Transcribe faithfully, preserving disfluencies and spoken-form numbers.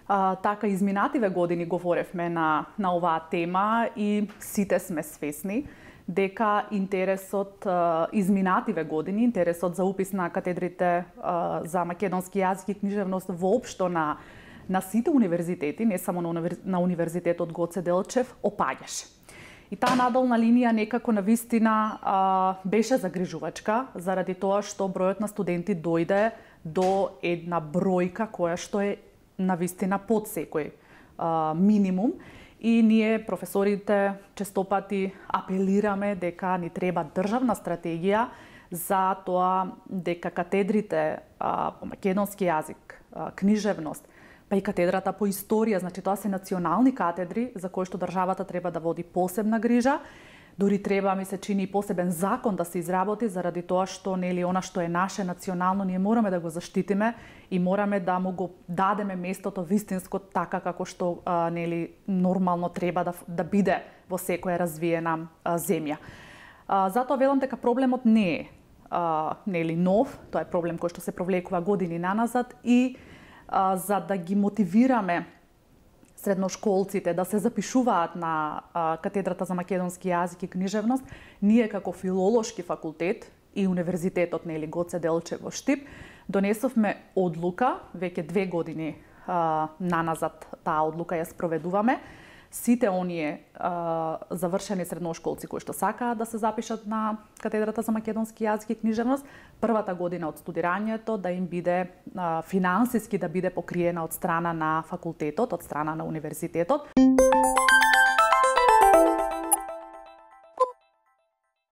А, така, изминативе години говоревме на, на оваа тема и сите сме свесни дека интересот а, изминативе години, интересот за упис на катедрите а, за македонски јазик и книжевност воопшто на, на сите универзитети, не само на, универ... на Универзитетот Гоце Делчев, опаѓаше. И таа надолна линија некако навистина а, беше загрижувачка, заради тоа што бројот на студенти дојде до една бројка која што е навистина под секој а, минимум. И ние, професорите, честопати апелираме дека ни треба државна стратегија за тоа дека катедрите а, по македонски јазик, а, книжевност, па и катедрата по историја, значи тоа се национални катедри за кои што државата треба да води посебна грижа. Дури треба, ми се чини, посебен закон да се изработи заради тоа што нели она што е наше национално ние мораме да го заштитиме и мораме да му го дадеме местото вистинско така како што а, нели нормално треба да да биде во секоја развиена а, земја. А, затоа велам дека проблемот не е а, нели нов, тоа е проблем кој што се провлекува години наназад и а, за да ги мотивираме средношколците да се запишуваат на а, катедрата за македонски јазик и книжевност, ние како филолошки факултет и Универзитетот нели Гоце Делчев во Штип донесовме одлука, веќе две години а, наназад таа одлука ја спроведуваме. Сите оние а, завршени средношколци кои што сакаат да се запишат на катедрата за македонски јазик и книжевност, првата година од студирањето да им биде а, финансиски да биде покриена од страна на факултетот, од страна на универзитетот.